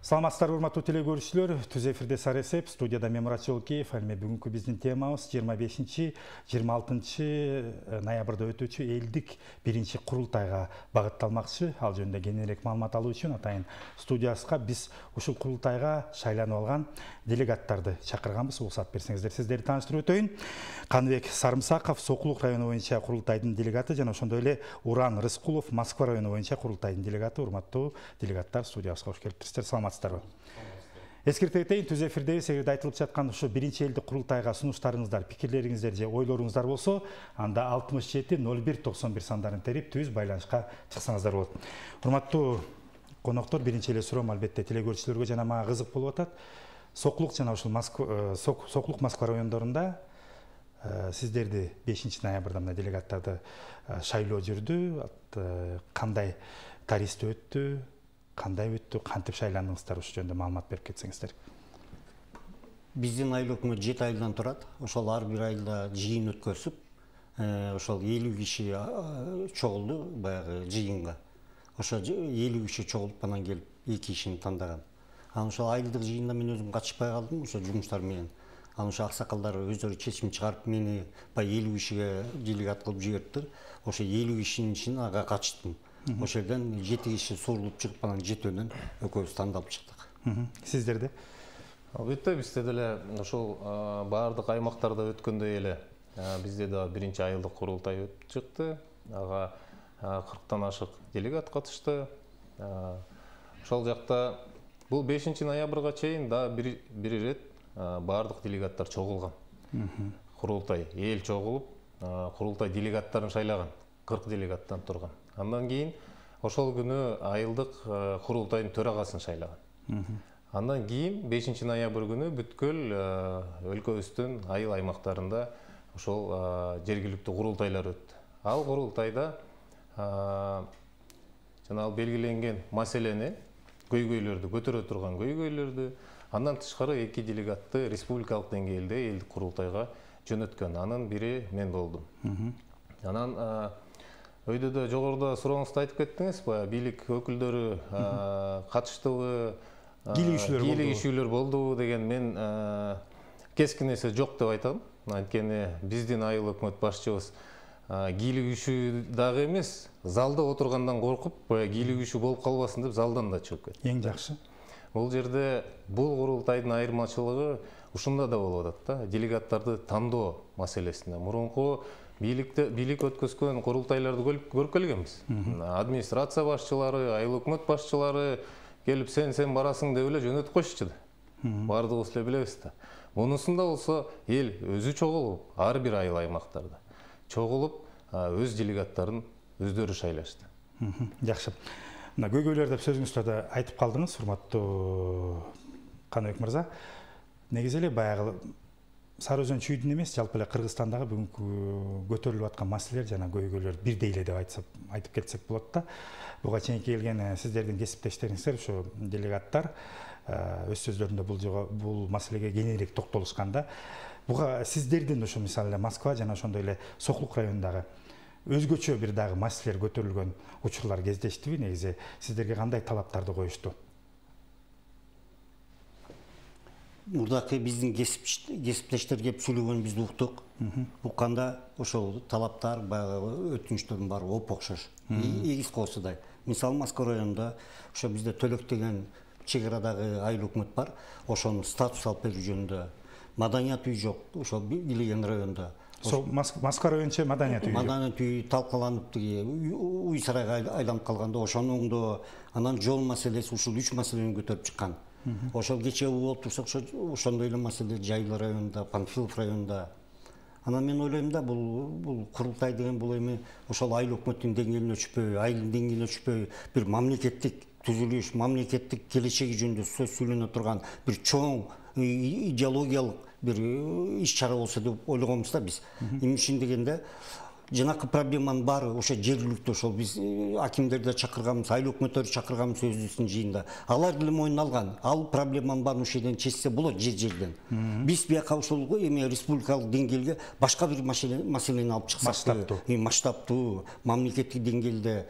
Саламатсыздар, урматтуу теле көрүүчүлөр. Түз эфирде Саресеп, студияда мен Мурат Жолкеев. Бүгүнкү биздин темабыз 25-26 ноябрда өтүүчү элдик биринчи курултайга багытталмакчы. Ал жөнүндө кененирээк маалымат алуу үчүн атайын студиясына биз ушул курултайга шайланып алган делегаттарды чакырганбыз. Уруксат берсеңиздер, сиздерди тааныштырып өтөйүн. Каныбек Сарымсаков Сокулук району боюнча курултайдын делегаты жана ошондой эле Уран Рыскулов Москва району боюнча курултайдын делегаты. Урматтуу делегаттар, студиябызга кош келиптирсиздер. Саламатсыздарбы? Эскерте кетейин, түз эфирде силерге айтылып жаткан ушу биринчи элдик курултайга сунуштарыңыздар, пикирлериңиздер же ойлоруңуздар болсо, анда 67 01 91 сандарын терип түз байланышка чыксаңыздар болот. Урматтуу коноктор, биринчи эле суроом албетте теле көрүүчүлөргө жана мага кызык болуп атат. Сокулук жана ушул Сокулук Москва райондорунда сиздерди 5 ноябрда мына делегаттарды шайлоо жүрдү. Кандай тарихте өттү? Кандай өттү, кантип шайландыңыздар, ушул жөнүндө маалымат берип кетсеңиздер. Биздин айыл өкмөт 7 айылдан турат. Ошол ар бир айылда жыйын өткөрүп, ошол 50 киши чогулду баягы жыйынга. Ошо 50 киши чогулуп анан келип 2 кишини тандаган. Анан ошол айылдык жыйында мен өзүм катышпай калдым, ошо жумуштар менен. Анан ошо аксакалдар өздөрү чечим чыгарып мени баягы 50 кишиге делегат кылып жибердиптир. Ошо 50 кишинин ичинен ага катыштым. Ошол жерден 7 киши сурулуп чыгып, анан 7-өнөн экөөбүз тандалып чыктык. Сиздерде? Албетте, бизде деле ошол баардык аймактарда өткөндөй эле бизде да биринчи айылдык курултай өтүп чыкты. Ага 40тан ашык делегат катышты. Ошол жакта бул 5 ноябрга чейин да бир ирет баардык делегаттар чогулган. Курултай эл чогулуп, курултай делегаттарын шайлаган. 40 делегаттан турган. Андан кийин ошол күнү айылдык курултайдын төрагасын шайлаган. Андан кийин 5 ноябрь күнү бүткүл өлкөбүздүн айыл аймактарында ошол жергиликтүү курултайлар өттү. Ал курултайда жана белгиленген маселени, көйгөйлөрдү көтөрө турган көйгөйлөрдү, андан тышкары 2 делегатты республикалык деңгээлде элдик курултайга жөнөткөн. Анын бири мен болдум. Анан өйдөдө жогоруда сурооңузду айтып кеттиңиз, баягы бийлик өкүлдөрү катыштыбы, кийлигишүүлөр болдубу деген мен кескин эсе жок деп айтам. Анткени биздин айыл өкмөт башчыбыз кийлигишүү дагы эмес, залда отургандан коркуп, баягы кийлигишүү болуп калбасын деп залдан да чыгып кетти. Эң жакшы. Бул жерде бул курултайдын айырмачылыгы ушунда да болуп атат да, делегаттарды тандоо маселесинде. Мурунку бийлик өткөзгөн курултайларды көрүп келгенбиз. Администрация башчылары, айыл өкмөт башчылары келип сен барасың деп эле жөнөтүп койчучу да. Бардыгыбыз эле билебиз да. Мунусунда болсо эл өзү чогулуп, ар бир айыл аймактарда чогулуп, өз делегаттарын өздөрү шайлашты. Жакшы. Мына көйгөйлөр деп сөзүңүздө да айтып калдыңыз, урматтуу Каныбек мырза. Негизи эле баягы Сары Өзөн чүйдүн эмес, жалпы эле Кыргызстандагы бүгүнкү көтөрүлүп аткан маселелер жана көйгөйлөр бирдей эле деп айтып кетсек болот да. Буга чейин келген сиздердин кесиптештериңиздер, ошо делегаттар өз сөздөрүндө бул маселеге кененирээк токтолушканда, буга сиздердин ошо мисалы Москва жана ошондой эле Сокулук районундагы өзгөчө бир дагы маселелер көтөрүлгөн учурлар кездештиби? Негизи сиздерге кандай талаптарды коюшту? Мурдакы биздин кесиптештер кеп сүйлөгөнүн бизди уктук. Укканда ошол талаптар, баягы өтүнүчтөрдүн баары оп-окшош. Эгиз коосудай. Мисалы Москва районунда ошо бизде Төлөк деген чек арадагы айыл өкмөт бар. Ошонун статус алып берүү жөнүндө маданият үй жок. Ошол билген районда. Москва районча маданият үй. Маданият үй талкаланып, уй сарайга айланып калганда ошону оңдоо, анан жол маселеси, ушул 3 маселени көтөрүп чыккан. Ошол кечээ болуп турса, ошондой эле маселе Жайыл районунда, Панфилов районунда. Анан мен ойлойм да, бул курултай деген бул эми ошол айыл өкмөттүн деңгээлине өчпөй, айылдын деңгээлине өчпөй, бир мамлекеттик түзүлүш, мамлекеттик келечеги жөнүндө сөз сүйлөнө турган бир чоң идеологиялык бир иш чара болсо деп ойлогонбуз да биз. Эми ишин дегенде жанакы проблеманын баары ошо жергиликтүү ошол биз акимдерди чакырганбыз, айыл өкмөттөрдү чакырганбыз өзүбүздүн жыйында. Алар деле мойнуна алган. Ал проблеманын баарын ошол жерден чечсе болот жерден. Биз бияка ошол эме республикалык деңгээлге башка бир маселени алып чыксак, масштабтуу, мамлекеттик деңгээлде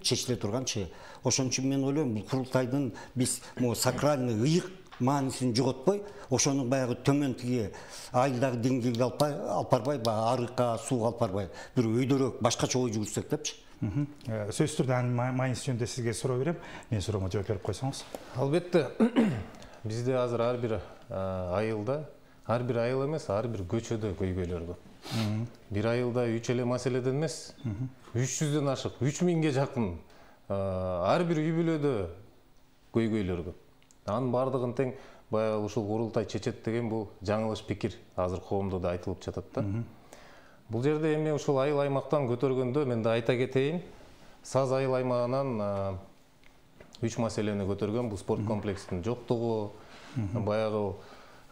чечиле турганчы. Ошон үчүн мен ойлойм, бул курултайдын биз могу сакральный ыйык маанисин жоготпой, ошону баягы төмөнтүгү айылдагы деңгээлге алып барбай, арыкка, сууга алып барбай, бир өйдөрөөк башкача ой жүгүрсөк депчи. Сөзсүз түрдө анын мааниси жөнүндө сизге суроо берем. Мен суроомо жооп берип койсоңуз. Албетте. Бизде азыр ар бир айылда, ар бир айыл эмес, ар бир көчөдө көйгөйлөр көп. Бир айылда 3 эле маселеден эмес, 300дөн ашык, 3000ге жакын ар бир үй бүлөдө көйгөйлөр көп. Анын бардыгын тең баягы ушул курултай чечет деген бул жаңылыш пикир азыр коомдо да айтылып жатат да. Бул жерде эми ушул айыл аймактан көтөргөндө мен да айта кетейин. Саз айыл аймагынан 3 маселени көтөргөн. Бул спорт комплексинин жоктугу, баягы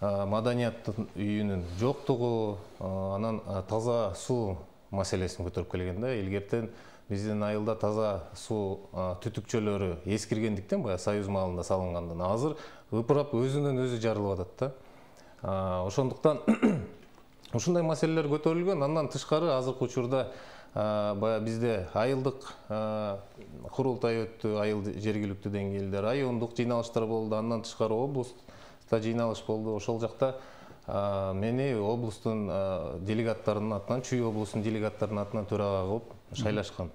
маданияттын үйүнүн жоктугу, анан таза суу маселесин көтөрүп келген да. Илгертен биздин айылда таза суу түтүкчөлөрү эскиргендиктен баягы Союз маалында салынгандан азыр ыпырап өзүнөн өзү жарылып атат да. Ошондуктан ушундай маселелер көтөрүлгөн. Андан тышкары азыркы учурда баягы бизде айылдык курултай өттү, айыл жергиликтүү деңгээлде райондук жыйналыштар болду. Андан тышкары облустта жыйналыш болду. Ошол жакта мени облустун делегаттарынын атынан, Чүй облусунун делегаттарынын атынан төрага кылып шайлашкан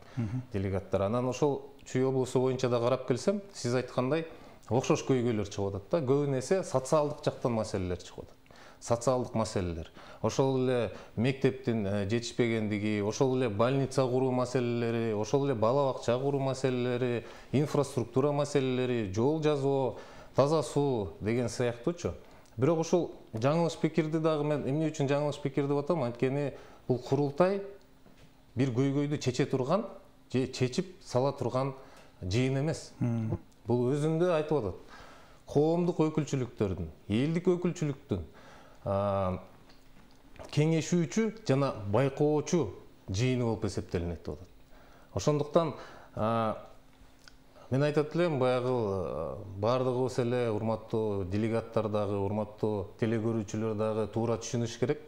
делегаттар. Анан ошол Чүй облусу боюнча да карап келсем, сиз айткандай окшош көйгөйлөр чыгып атат да. Көбүн эсе социалдык жактан маселелер чыгып атат. Социалдык маселелер. Ошол эле мектептин жетишпегендиги, ошол эле больница куруу маселелери, ошол эле бала бакча куруу маселелери, инфраструктура маселелери, жол жазуу, таза суу деген сыяктуучу. Бирок ушул жаңылыш пикирди дагы мен эмне үчүн жаңылыш пикир деп атам? Анткени бул курултай бир көйгөйдү чече турган, же чечип сала турган жыйын эмес. Бул өзүндө айтып атат. Коомдук өкүлчүлүктөрдүн, элдик өкүлчүлүктүн кеңешүүчү жана байкоочу жыйыны болуп эсептелинет деп атат. Ошондуктан мен айтат элем, баягы бардыгыбыз эле урматтуу делегаттар дагы, урматтуу телекөрүүчүлөр дагы туура түшүнүш керек.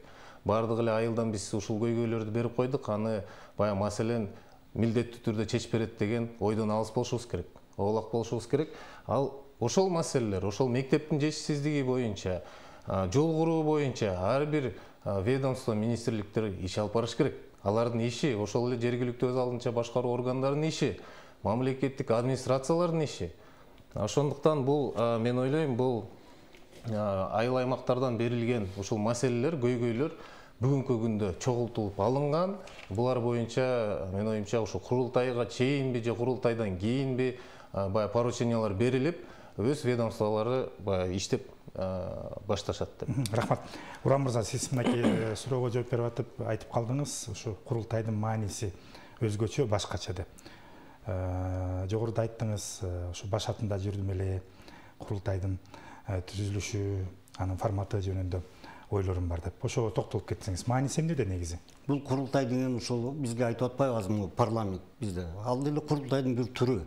Бардык эле айылдан биз ушул көйгөйлөрдү берип койдук. Аны баягы маселен милдеттүү түрдө чечип берет деген ойдон алыс болушубуз керек. Оолак болушубуз керек. Ал ошол маселелер, ошол мектептин жетишсиздиги боюнча, жол куруу боюнча ар бир ведомство, министрликтер иш алып барыш керек. Алардын иши, ошол эле жергиликтүү өз алдынча башкаруу органдарынын иши, мамлекеттик администрациялардын иши. Ошондуктан бул мен ойлойм, бул айыл аймактардан берилген ушул маселелер, көйгөйлөр бүгүнкү күндө чогултулуп алынган. Булар боюнча мен оюмча ушул курултайга чейинби же курултайдан кийинби баягы поручениялар берилип, өз ведомстволору баягы иштеп башташат деп. Рахмат. Урам мырза, сиз мынакей суроого жооп берип атып айтып калдыңыз, ушу курултайдын мааниси өзгөчө, башкача деп. Жогоруда айттыңыз, ушу баш атында жүрдүм эле, курултайдын түзүлүшү, анын форматы жөнүндө ойлорум бар деп. Ошого токтолуп кетсеңиз, мааниси эмнеде негизи? Бул курултай деген ушул бизге айтып атпайбызбы, парламент бизде. Ал деле курултайдын бир түрү.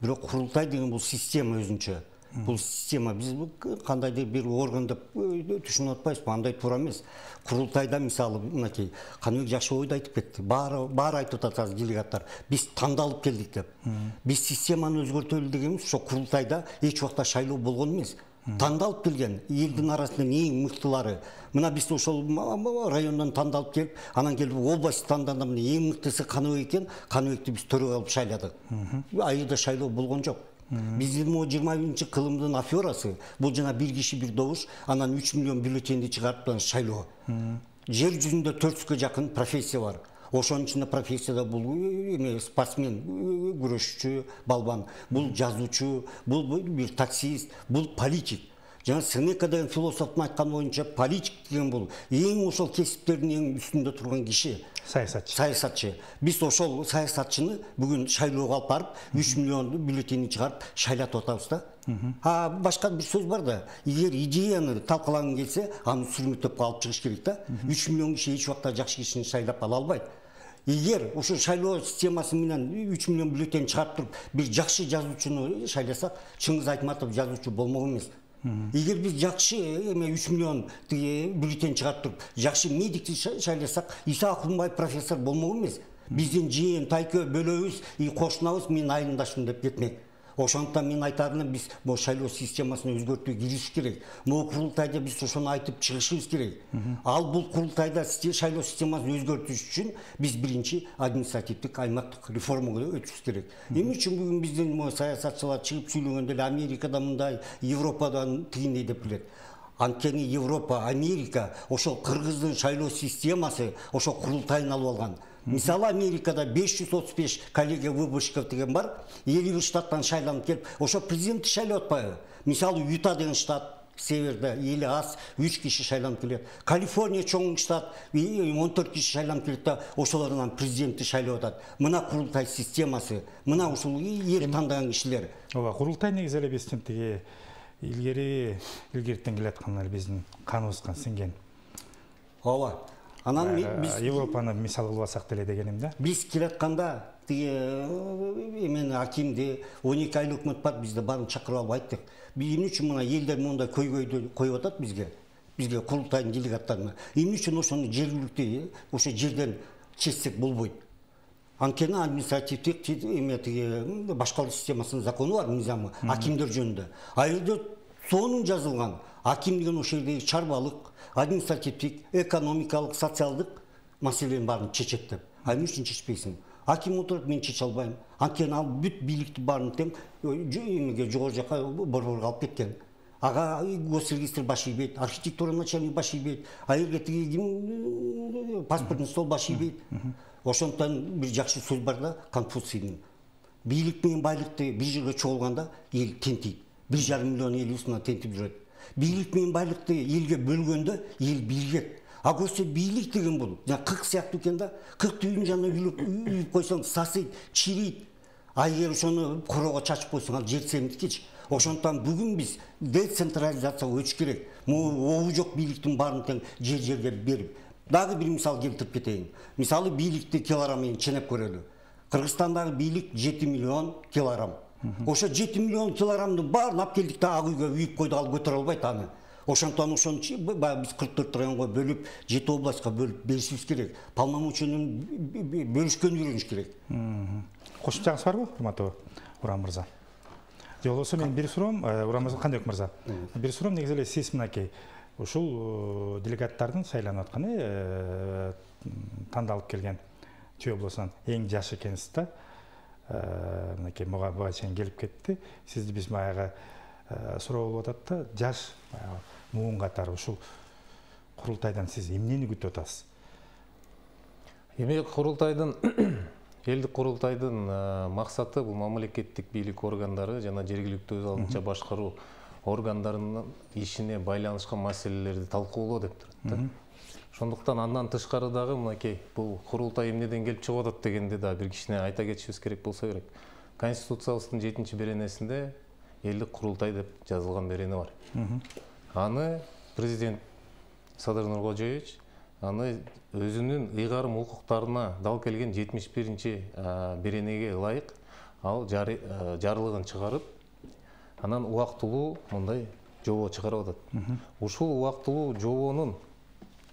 Бирок курултай деген бул система өзүнчө. Бул система биз кандайдыр бир орган деп түшүнүп атпайбызбы, андай туура эмес. Курултайда мисалы мынакей Каныбек жакшы ойду айтып кетти. Баары айтып атат делегаттар. Биз тандалып келдик деп. Биз системаны өзгөртөлү дегенбиз, ошо курултайда эч убакта шайлоо болгон эмес. Тандалып келген элдин арасынан эң мыктылары. Мына биз ошол райондон тандалып келип, анан келип область тандаганда эң мыктысы Каныбек экен, Каныбекти биз төрөгө алып шайладык. Айылда шайлоо болгон жок. Биздин 21-кылымдын аферасы бул жана бир киши бир добуш, анан 3 миллион бюллетенди чыгарып шайлоо. Жер жүзүндө 400га жакын профессия бар. Ошонун ичинде профессияда бул спортсмен, күрөшчү, балбан, бул жазуучу, бул бир таксист, бул политик. Жана Сенека деген философтун айтканы боюнча политик деген бул эң ошол кесиптердин эң үстүндө турган киши. Саясатчы. Биз ошол саясатчыны бүгүн шайлоого алып барып, 3 миллион бюллетени чыгарып шайлатып атабыз да. Башка бир сөз бар да, эгер идеяны талкаланган келсе, аны сүрмөтөп алып чыгыш керек да. 3 миллион киши эч убакта жакшы кишини шайлап ала албайт. Эгер ошо шайлоо системасы менен 3 миллион бюллетень чыгарып туруп бир жакшы жазуучуну шайласак, Чыңгыз Айтматов жазуучу болмок эмес. Эгер биз жакшы 3 миллион бюллетень чыгарып туруп жакшы медикти шайласак, Иса Акунбаев профессор болмок эмес. Биздин жыйын тайкө бөлөбүз, кошунабыз, менин айылдашым деп кетмек. Ошондуктан мен айтарым, биз бул шайлоо системасын өзгөртүүгө киришиш керек. Бул курултайда биз ошону айтып чыгышыбыз керек. Ал бул курултайда шайлоо системасын өзгөртүш үчүн биз биринчи административдик аймактык реформага өтүшүбүз керек. Эмне үчүн бүгүн биздин саясатчылар чыгып сүйлөгөндө эле Америкада мындай, Европадан тигиндей деп билет. Анткени Европа, Америка ошол кыргыздын шайлоо системасы ошол курултайын алып алган. Мисалы Америкада 535 коллегия выборщиков деген бар, 50 штаттан шайланып келип, ошо президентти шайлап атпайбы? Мисалы Юта деген штат, северде эли аз, 3 киши шайланып келет. Калифорния чоң штат, 14 киши шайланып келет да, ошолордон президентти шайлап атат. Мына курултай системасы, мына ушул эл тандаган кишилер. Ооба, курултай негизи эле биздин тиги илгертен келаткан биздин каныбызга сиңген. Ооба. Анан биз Европаны мисал кылып алсак деле дегеним да. Биз келатканда эмен акимди 12 айлык өкмөт бар, бизди баарын чакырып алып айттык. Эмне үчүн мына элдер мондай көйгөйдү коюп атат бизге курултайдын делегаттарына. Эмне үчүн ошону жергиликтүү ошо жерден чечсек болбойт? Анткени административдик башкаруу системасынын закону бар, мыйзамы, акимдер жөнүндө. Айылда сонун жазылган. Аким деген ошол жердеги чарбалык, административдик, экономикалык, социалдык маселелердин баарын чечет деп. Эмне үчүн чечпейсиң? Аким отуруп, мен чече албайм. Анткени ал бүт бийликти баарын тең жогору жака борборго алып кеткен. Ага госрегистр баш ийбейт, архитектура начальник баш ийбейт, айылга тиги паспортный стол баш ийбейт. Ошондуктан бир жакшы сөз бар да, Конфуцийдин. Бийлик менен байлыкты бир жерге чогулганда эл тентийт. 1,5 миллион эл үстүнө тентип жүрөт. Бийлик менен байлыкты элге бөлгөндө эл биригет. А көрсө бийлик деген бул кырк сыяктуу экен да. Кыркты үйдүн жанына үйүп койсоң сасыйт, чирийт. А эгер ошону короого чачып койсоң ал жер сеники. Ошондуктан бүгүн биз децентрализацияга өтүш керек. Обу жок бийликтин баарын тең жер-жерге берип. Дагы бир мисал келтирип кетейин. Мисалы бийликти килограмм менен ченеп көрөлү. Кыргызстандагы бийлик 7 миллион килограмм. Ошо 7 миллион килограммдын баарын алып келдик да ак үйгө үйүп койду, ал көтөрө албайт аны. Ошондуктан ошону биз 44 районго бөлүп, 7 областка бөлүп беришибиз керек. Полномочиянын бөлүшкөн үйрөнүш керек. Кошумчаңыз барбы, урматтуу Урам мырза? Же болбосо мен бир суроом, Урам мырза, кандайык мырза? Бир суроом, негизи эле сиз мынакей ушул делегаттардын шайланып атканы тандалып келген Чүй облусунан эң жаш экенсиз да. Мынакей буга чейин келип кетти. Сизди биз баягы суроо болуп атат да, жаш муун катары ушул курултайдан сиз эмнени күтүп атасыз? Эми курултайдын элдик курултайдын максаты бул мамлекеттик бийлик органдары жана жергиликтүү өз алдынча башкаруу органдарынын ишине байланышкан маселелерди талкуулоо деп турат да. Ошондуктан андан тышкары дагы мынакей бул курултай эмнеден келип чыгып атат дегенди да бир кичине айта кетишибиз керек болсо керек. Конституциябыздын 7-беренесинде элдик курултай деп жазылган берене бар. Аны президент Садыр Нуркожоевич аны өзүнүн ыйгарым укуктарына дал келген 71-беренеге ылайык ал жарлыгын чыгарып, анан убактылуу мындай жобо чыгарып атат. Ушул убактылуу жобонун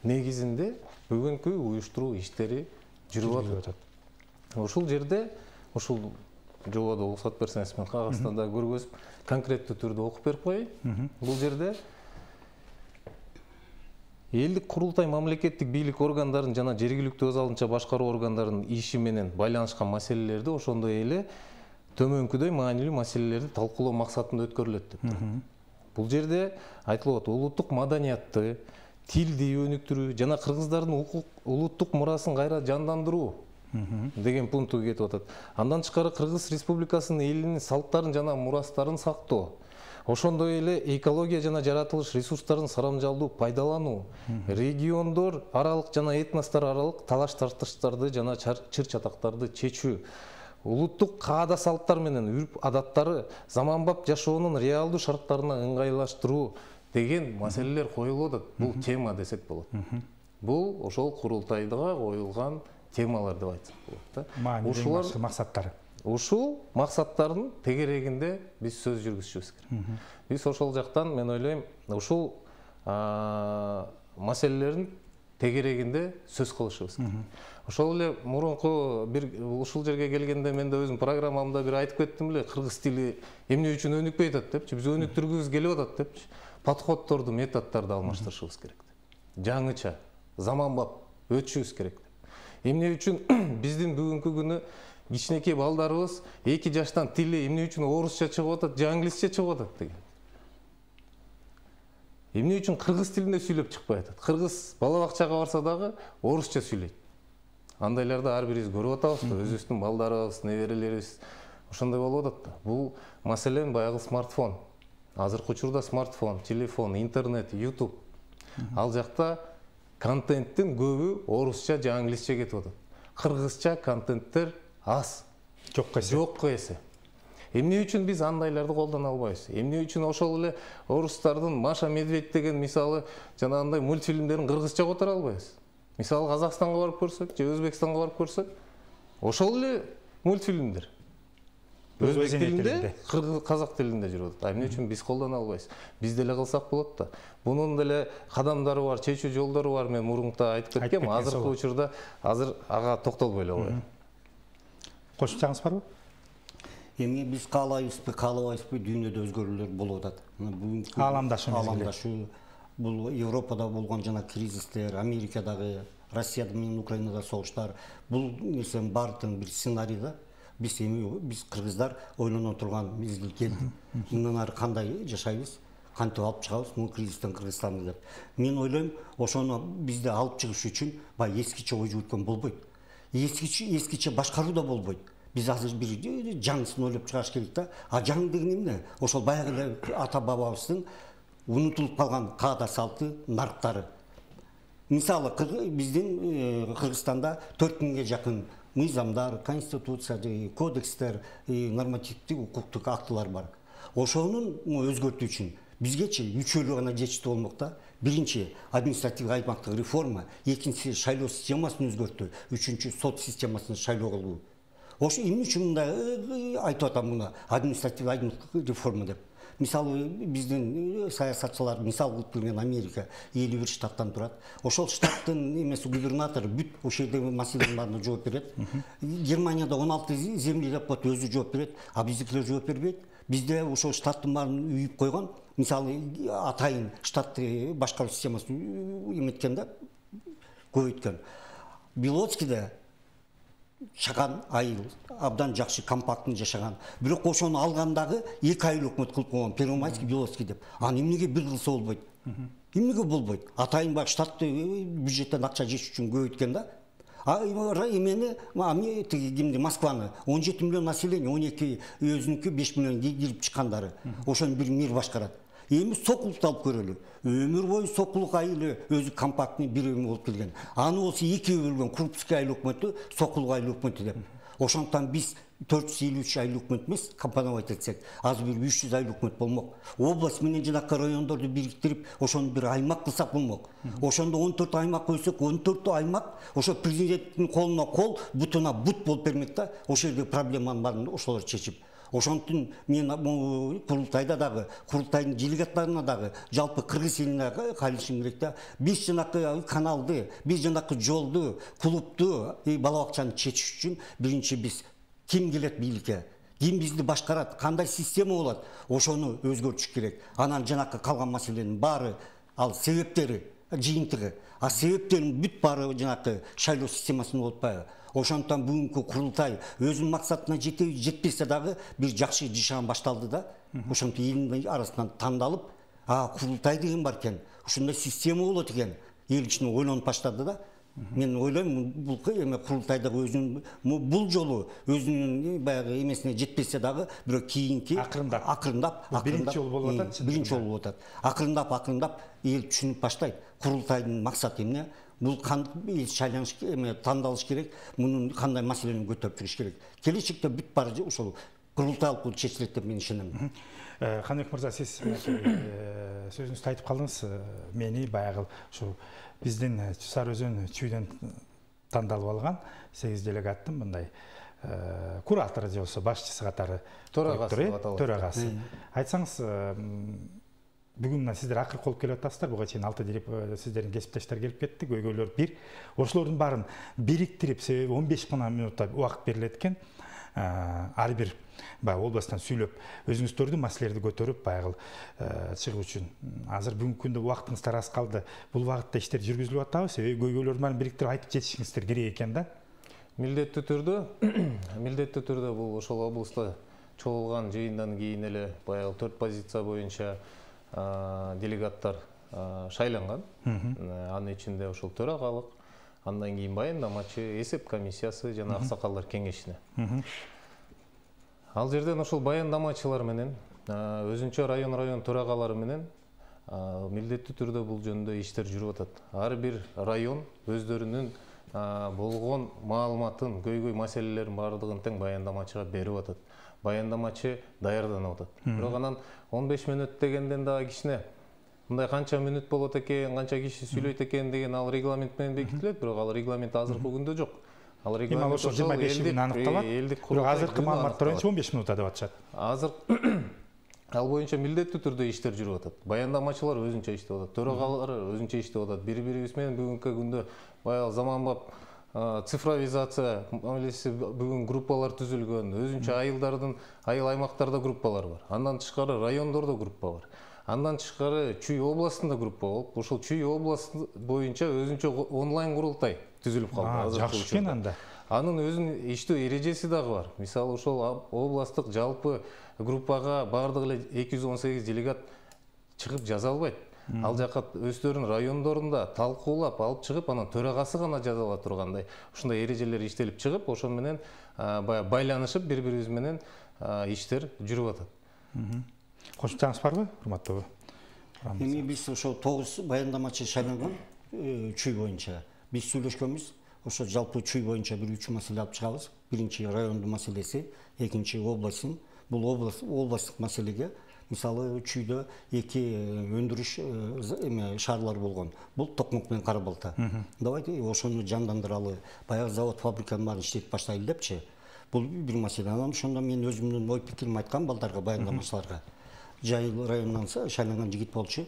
негизинде бүгүнкү уюштуруу иштери жүрүп атат. Ушул жерде, ушул жободо уруксат берсеңиз мен кагазда да көргөзүп, конкреттүү түрдө окуп берип коеюн. Бул жерде элдик курултай мамлекеттик бийлик органдарын жана жергиликтүү өз алдынча башкаруу органдарынын иши менен байланышкан маселелерди ошондой эле төмөнкүдөй маанилүү маселелерди талкуулоо максатында өткөрүлөт деп турат. Бул жерде айтылып атат, улуттук маданиятты, тилди өнүктүрүү жана кыргыздардын улуттук мурасын кайра жандандыруу деген пункту кетип атат. Андан тышкары Кыргыз Республикасынын элинин салттарын жана мурастарын сактоо, ошондой эле экология жана жаратылыш ресурстарын сарамжалдуу пайдалануу, региондор аралык жана этностор аралык талаш тартыштарды жана чыр-чатактарды чечүү, улуттук каада салттар менен үрп адаттары заманбап жашоонун реалдуу шарттарына ыңгайлаштыруу деген маселелер коюлуп атат. Бул тема десек болот. Бул ошол курултайга коюлган темалар деп айтсак болот да. Ушулар максаттары. Ушул максаттардын тегерегинде биз сөз жүргүзүшүбүз керек. Биз ошол жактан мен ойлойм, ушул маселелердин тегерегинде сөз кылышыбыз керек. Ошол эле мурунку бир ушул жерге келгенде мен да өзүм программамда бир айтып кеттим эле, кыргыз тили эмне үчүн өнүкпөй атат депчи, биз өнүктүргүбүз келип атат депчи. Подходдорду, методдорду алмаштырышыбыз керек деп. Жаңыча, заманбап өтүшүбүз керек деп. Эмне үчүн биздин бүгүнкү күнү кичинекей балдарыбыз 2 жаштан тили эмне үчүн орусча чыгып атат, же англисче чыгып атат деген. Эмне үчүн кыргыз тилинде сүйлөп чыкпай атат? Кыргыз бала бакчага барса дагы орусча сүйлөйт. Андайларды ар бирибиз көрүп атабызбы? Өзүбүздүн балдарыбыз, неберелерибиз ошондой болуп атат да. Бул маселен баягы смартфон. Азыркы учурда смартфон, телефон, интернет, YouTube. Ал жакта контенттин көбү орусча же англисче кетип атат. Кыргызча контенттер аз. Жок эсе. Эмне үчүн биз андайларды колдоно албайбыз? Эмне үчүн ошол эле орустардын Маша Медведь деген мисалы жанагындай мультфильмдерин кыргызча которо албайбыз? Мисалы Казакстанга барып көрсөк, же Өзбекстанга барып көрсөк, ошол эле мультфильмдер өзбек тилинде, казак тилинде жүрүп атат. Эмне үчүн биз колдоно албайбыз? Биз деле кылсак болот да. Бунун деле кадамдары бар, чечүү жолдору бар. Мен мурунта айтып кеткем, азыркы учурда азыр ага токтолбой эле коеюн. Кошумчаңыз барбы? Эми биз каалайбызбы, каалабайбызбы, дүйнөдө өзгөрүүлөр болуп атат. Бүгүнкү ааламдашу бул Европада болгон жана кризистер, Америкадагы, Россияда менен Украинада согуштар, бул нерсенин баардыгын бир сценарий да. Биз кыргыздар ойлоно турган мезгил келди. Мындан ары кандай жашайбыз, кантип алып чыгабыз бул кризистен Кыргызстанды деп. Мен ойлойм, ошону бизде алып чыгыш үчүн баягы эскиче ой жүгүрткөн болбойт. Эскиче башкаруу да болбойт. Биз азыр бир жаңысын ойлоп чыгаш керек да. А жаңы деген эмне? Ошол баягы эле ата бабабыздын унутулуп калган каада салты, нарктары. Мисалы биздин Кыргызстанда 4000ге жакын мыйзамдар, конституция, кодекстер, нормативдик укуктук актылар бар. Ошонун өзгөртүү үчүн бизгечи үчөөлүү гана жетиштүү болмок да. Биринчи административдик аймактык реформа, экинчиси шайлоо системасын өзгөртүү, үчүнчү сот системасын шайлоо кылуу. Ошо эмне үчүн мындай айтып атам муну административдик аймактык реформа деп? Мисалы биздин саясатчылар мисал кылып келген Америка 51 штаттан турат. Ошол штаттын эмеси губернатору бүт ошол жердеги маселенин баарына жооп берет. Германияда 16 земли деп коет, өзү жооп берет, а биздикилер жооп бербейт. Бизде ошол штаттын баарын үйүп койгон. Мисалы атайын штатты башкаруу системасын эметкен да, көбөйткөн. Белоцкийде чаган айыл, абдан жакшы компактын жашаган. Бирок ошону алгандагы 2 айыл өкмөт кылып койгон, Первомайский, Белоцкий деп. Аны эмнеге бир кылса болбойт? Эмнеге болбойт? Атайын бак штатты бюджеттен акча жеш үчүн көбөйткөн да. А эмени кимди Москваны 17 миллион население, 12 өзүнүкү 5 миллион кирип чыккандары. Ошону бир мэр башкарат. Эми сокулукту алып көрөлү. Өмүр бою сокулук айылы өзү компактный бир эме болуп келген. Аны болсо экиге бөлгөн Крупский айыл өкмөтү, сокулук айыл өкмөтү деп. Ошондон биз 453 айыл өкмөт эмес, компоновать этсек, азыр бир 300 айыл өкмөт болмок. Область менен жанакы райондорду бириктирип, ошону бир аймак кылсак болмок. Ошондо 14 аймак койсок, 14 аймак ошо президенттин колуна кол, бутуна бут болуп бермек да. Ошол жердеги проблеманын баарын ошолор чечип. Ошондон мен курултайда дагы, курултайдын делегаттарына дагы жалпы кыргыз элине кайрылышым керек да. Биз жанакы каналды, биз жанакы жолду, клубду, бала бакчаны чечиш үчүн биринчи биз ким келет бийликке, ким бизди башкарат, кандай система болот, ошону өзгөртүш керек. Анан жанакы калган маселенин баары ал себептери, жыйынтыгы. А себептерин бүт баары жанакы шайлоо системасында болуп атпайбы? Ошондон бүгүнкү курултай өзүнүн максатына жетпесе дагы бир жакшы жашаган башталды да. Ошондо элдин арасынан тандалып, курултай деген бар экен, ушундай система болот экен. Эл ичинде ойлонуп баштады да. Мен ойлойм, бул эме курултайдагы өзүнүн бул жолу өзүнүн баягы эмесине жетпесе дагы, бирок кийинки акырындап биринчи жолу болуп атат. Биринчи жолу болуп атат. Акырындап эл түшүнүп баштайт. Курултайдын максаты эмне? Бул шайланыш эме тандалыш керек, мунун кандай маселени көтөрүп чыгыш керек. Келечекте бүт баары ошол курултай аркылуу чечилет деп мен ишенем. Каныбек мырза, сиз сөзүңүздү айтып калдыңыз. Мени баягы ушу биздин Сары Өзөн чүйдөн тандалып алган 8 делегаттын мындай куратору же болбосо башчысы катары төрагасы. Айтсаңыз, бүгүн мына сиздер акыркы болуп келип атасыздар. Буга чейин 6 сиздердин кесиптештер келип кетти, көйгөйлөр бир. Ошолордун баарын бириктирип, себеби 15 гана мүнутта убакыт берилет экен. Ар бир областтан сүйлөп, өзүңүздөрдүн маселелерди көтөрүп, байгыл чыгуу үчүн. Азыр бүгүнкү күндө убактыңыздар аз калды. Бул убакытта иштер жүргүзүлүп атабы? Себеби көйгөйлөрдүн баарын бириктирип айтып жетишиңиздер керек экен да. Милдеттүү түрдө бул ошол облустта чогулган жыйындан кийин эле баягы 4 позиция боюнча делегаттар шайланган. Анын ичинде ошол төрагалык, андан кийин баяндамачы, эсеп комиссиясы жана аксакалдар кеңешине. Ал жерден ошол баяндамачылар менен, өзүнчө район төрагалары менен милдеттүү түрдө бул жөнүндө иштер жүрүп атат. Ар бир район өздөрүнүн болгон маалыматын, көйгөй маселелерин баардыгын тең баяндамачыга берип атат. Баяндамачы даярданып атат. Бирок анан 15 мүнөт дегенден дагы кичине мындай канча мүнөт болот экен, канча киши сүйлөйт экен деген ал регламент менен бекитилет, бирок ал регламент азыркы күндө жок. Ал регламент ошол 25 күн аныкталат. Бирок азыркы маалыматтар боюнча 15 мүнөттө деп атышат. Азыр ал боюнча милдеттүү түрдө иштер жүрүп атат. Баяндамачылар өзүнчө иштеп атат, төрагалар өзүнчө иштеп атат. Бири-бирибиз менен бүгүнкү күндө баягы заманбап цифровизация мамилеси бүгүн группалар түзүлгөн, өзүнчө айыл аймактарда группалар бар. Андан тышкары райондордо группа бар. Андан тышкары Чүй областында группа болуп, ошол Чүй областы боюнча өзүнчө онлайн курултай түзүлүп калды. Жакшы экен анда. Анын өзүнүн иштөө эрежеси дагы бар. Мисалы ошол областтык жалпы группага бардыгы эле 218 делегат чыгып жаза албайт. Ал жака өздөрүнүн райондорунда талкуулап алып чыгып, анан төрагасы гана жаза ала тургандай ушундай эрежелер иштелип чыгып, ошон менен байланышып бири-бирибиз менен иштер жүрүп атат. Кошумчаңыз барбы, урматтуу? Эми биз ошо 9 баяндамачы шайланган Чүй боюнча. Биз сүйлөшкөнбүз. Ошо жалпы Чүй боюнча бир 3 маселе алып чыгабыз. Биринчи райондун маселеси, экинчи областтын. Бул областтык маселеге мисалы Чүйдө 2 өндүрүш шаарлар болгон. Бул Токмок менен Кара Балта. Давайте ошону жандандыралы. Баягы завод, фабриканын баарын иштетип баштайлы депчи. Бул бир маселе. Анан ошондо мен өзүмдүн ой пикиримди айткам балдарга, баяндамачыларга. Жайыл районунан шайланган жигит болчу.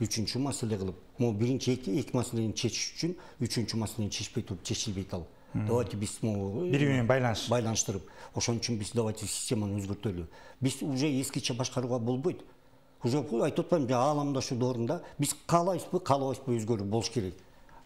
Үчүнчү маселе кылып, могу биринчи эки маселени чечиш үчүн үчүнчү маселени чечпей туруп чечилбейт ал. Давайте биз бири менен байланыштырып, ошон үчүн биз давайте системаны өзгөртөлү. Биз уже эскиче башкарууга болбойт. Уже айтып атпаймынбы, ааламдаштуу доорунда биз каалабайбызбы өзгөрүү болуш керек.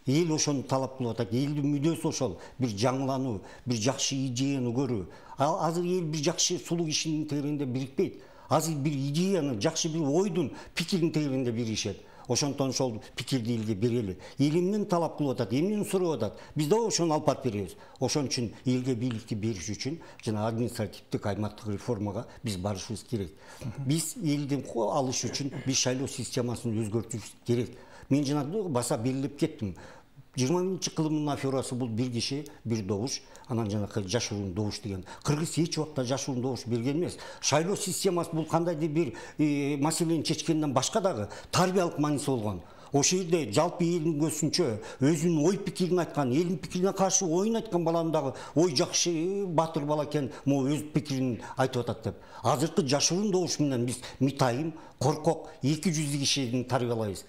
Эл ошону талап кылып атат. Элдин мүдөөсү ошол. Бир жаңылануу, бир жакшы идеяны көрүү. Азыр эл бир жакшы сулуу кишинин тегерегинде бирикпейт. Азыр бир идеяны, жакшы бир ойдун, пикирдин тегерегинде биришет. Ошондон ошол пикирди элге берели. Эл эмнени талап кылып атат, эмнени сурап атат. Биз да ошону алып барып беребиз. Ошон үчүн элге бийликти бериш үчүн жана административдик аймактык реформага биз барышыбыз керек. Биз элден алыш үчүн биз шайлоо системасын өзгөртүш керек. Мен жана баса белгилеп кеттим. 20-кылымдын аферасы бул бир киши, бир добуш, анан жанакы жашыруун добуш деген. Кыргыз эч убакта жашыруун добуш берген эмес. Шайлоо системасы бул кандайдыр бир маселени чечкенден башка дагы тарбиялык мааниси болгон. Ошол жерде жалпы элдин көзүнчө өзүнүн ой пикирин айткан, элдин пикирине каршы оюн айткан баланын дагы ой жакшы батыр бала экен, могу өз пикирин айтып атат деп. Азыркы жашыруун добуш менен биз митайым, коркок 200 кишини тарбиялайбыз.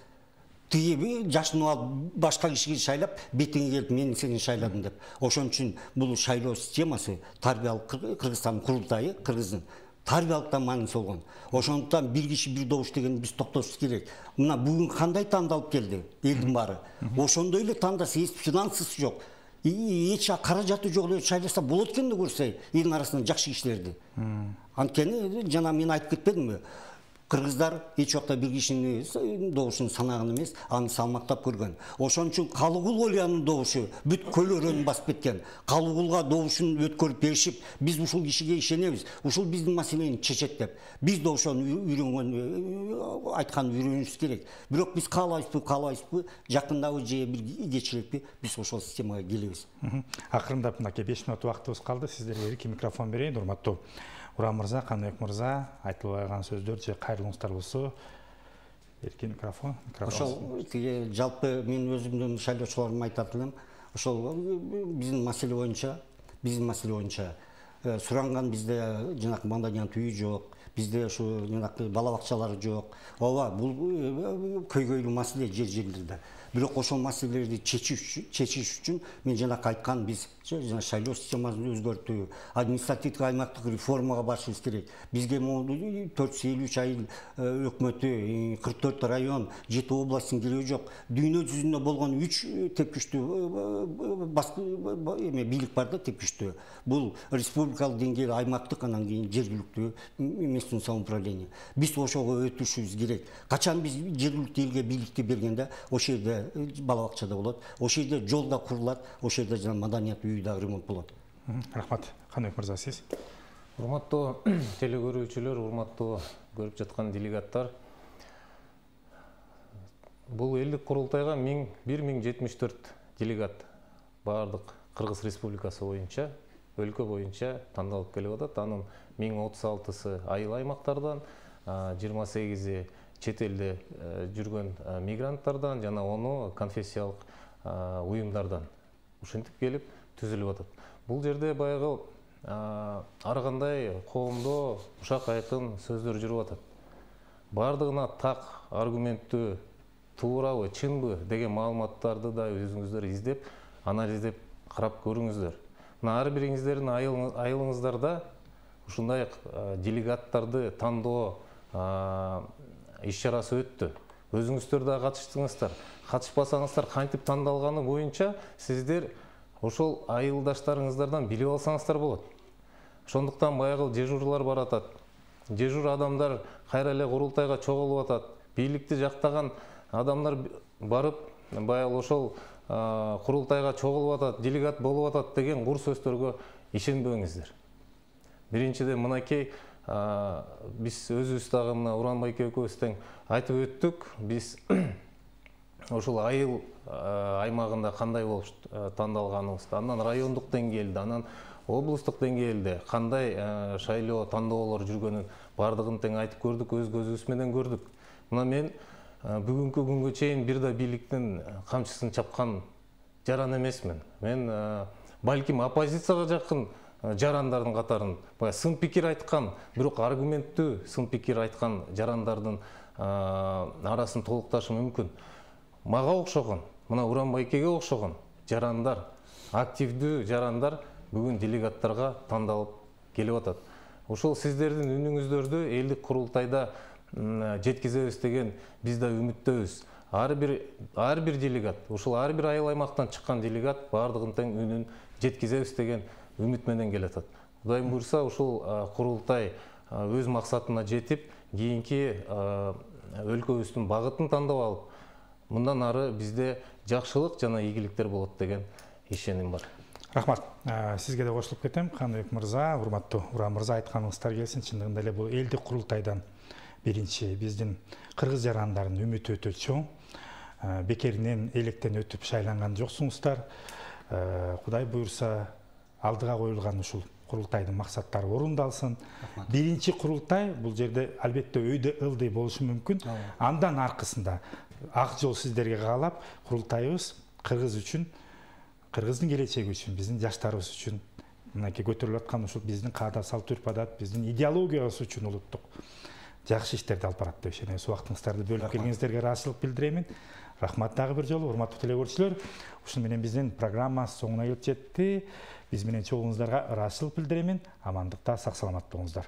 Тиги жашынып алып башка кишиге шайлап, бетиңе келип мен сени шайладым деп. Ошон үчүн бул шайлоо системасы тарбиялык Кыргызстан курултайы, Кыргыздын тарбиялыктан мааниси болгон. Ошондуктан бир киши бир добуш деген биз токтошубуз керек. Мына бүгүн кандай тандалып келди элдин баары. Ошондой эле тандаса, эч финансысы жок, эч каражаты жок эле шайласа болот экен деп көрсөй, элдин арасынан жакшы кишилерди. Анткени жана мен айтып кетпедимби? Кыргыздар эч убакта бир кишинин добушун санаган эмес, аны салмактап көргөн. Ошон үчүн Калыгул Олиянын добушу бүт көл өрөөнү басып кеткен. Калыгулга добушун өткөрүп беришип, биз ушул кишиге ишенебиз, ушул биздин маселени чечет деп. Биз да ошону үйрөнгөн, айтканды үйрөнүшүбүз керек. Бирок биз каалайбызбы, жакындабы же бир кечилекпи, биз ошол системага келебиз. Акырындап мынакей 5 минут убактыбыз калды. Сиздерге эркин микрофон берейин, урматтуу Урам мырза, Каныбек мырза, айтылбай калган сөздөр же кайрылууңуздар болсо, эркин микрофон. Ошол жалпы мен өзүмдүн шайлоочуларыма айтат элем, ошол биздин маселе боюнча суранган бизде жанакы маданият үйү жок, бизде ушу жанакы бала бакчалар жок. Ооба, бул көйгөйлүү маселе жерлерде. Бирок ошол маселелерди чечиш үчүн мен жанакы айткан биз жана шайлоо системасын өзгөртүү, административдик аймактык реформага барышыбыз керек. Бизге могу 453 айыл өкмөтү, 44 район, 7 областтын кереги жок. Дүйнө жүзүндө болгон 3 тепкичтүү бийлик бар да, тепкичтүү. Бул республикалык деңгээлде аймактык, анан кийин жергиликтүү местный самоуправление. Биз ошого өтүшүбүз керек. Качан биз жергиликтүү элге бийликти бергенде, ошол жерде бала бакчада болот, ошол жерде жол да курулат, ошол жерде жана маданият үйү да ремонт болот. Рахмат. Каныбек мырза, сиз? Урматтуу телекөрүүчүлөр, урматтуу көрүп жаткан делегаттар, бул элдик курултайга 1074 делегат баардык Кыргыз Республикасы боюнча, өлкө боюнча тандалып келип атат. Анын 1036-сы айыл аймактардан, 28-и чет элде жүргөн мигранттардан жана 10-у конфессиялык уюмдардан ушинтип келип түзүлүп атат. Бул жерде баягы ар кандай коомдо ушак айкын сөздөр жүрүп атат. Бардыгына так, аргументтүү, туурабы, чынбы деген маалыматтарды да өзүңүздөр издеп, анализдеп карап көрүңүздөр. Мына ар бириңиздердин айылыңыздарда ушундай делегаттарды тандоо иш-чарасы өттү. Өзүңүздөр да катыштыңыздар. Катышпасаңыздар кантип тандалганы боюнча сиздер ошол айылдаштарыңыздардан билип алсаңыздар болот. Ошондуктан баягы дежурлар баратат. Дежур адамдар кайра эле курултайга чогулуп атат. Бийликти жактаган адамдар барып, баягы ошол курултайга чогулуп атат, делегат болуп атат деген кур сөздөргө ишенбеңиздер. Биринчиден мынакей биз өзүбүз дагы мына Уранбайке экөөбүз тең айтып өттүк. Биз ошол айыл аймагында кандай болуп тандалганыбызды, андан райондук деңгээлде, анан облустук деңгээлде кандай шайлоо тандоолор жүргөнүн бардыгын тең айтып көрдүк, өз көзүбүз менен көрдүк. Мына мен бүгүнкү күнгө чейин бир да бийликтин камчысын чапкан жаран эмесмин. Мен балким оппозицияга жакын жарандардын катарын, сын пикир айткан, бирок аргументтүү сын пикир айткан жарандардын арасын толукташым мүмкүн. Мага окшогон, мына Уранбайкеге окшогон жарандар, активдүү жарандар бүгүн делегаттарга тандалып келип атат. Ошол сиздердин үнүңүздөрдү элдик курултайда жеткизебиз деген биз да үмүттөбүз. Ар бир делегат, ошол ар бир айыл аймактан чыккан делегат бардыгын тең үнүн жеткизебиз деген үмүт менен келатат. Кудайым буйрса, ушул курултай өз максатына жетип, кийинки өлкөбүздүн багытын тандап алып, мындан ары бизде жакшылык жана ийгиликтер болот деген ишеним бар. Рахмат. Сизге да кошулуп кетем. Каныбек мырза, урматтуу Уран мырза, айтканыңыздар келсин. Чындыгында эле бул элдик курултайдан биринчи биздин кыргыз жарандарынын үмүтү өтө чоң. Бекеринен электен өтүп шайланган жоксуңуздар. Кудай буйрса, алдыга коюлган ушул курултайдын максаттары орундалсын. Биринчи курултай бул жерде албетте өйдө ылдый болушу мүмкүн. Андан аркысында ак жол сиздерге каалап, курултайыбыз кыргыз үчүн, кыргыздын келечеги үчүн, биздин жаштарыбыз үчүн, мынакей көтөрүлүп аткан ушул биздин каада салт үрп-адат, биздин идеологиябыз үчүн улуттук жакшы иштерди алып барат деп ишенебиз. Убактыңыздарды бөлүп келгениңиздерге ыраазычылык билдиремин. Рахмат дагы бир жолу, урматтуу телекөрүүчүлөр. Ушуну менен биздин программа соңуна келип жетти. Биз менен чогууңуздарга ыраазычылык билдиремин. Амандыкта, сак саламат болуңуздар.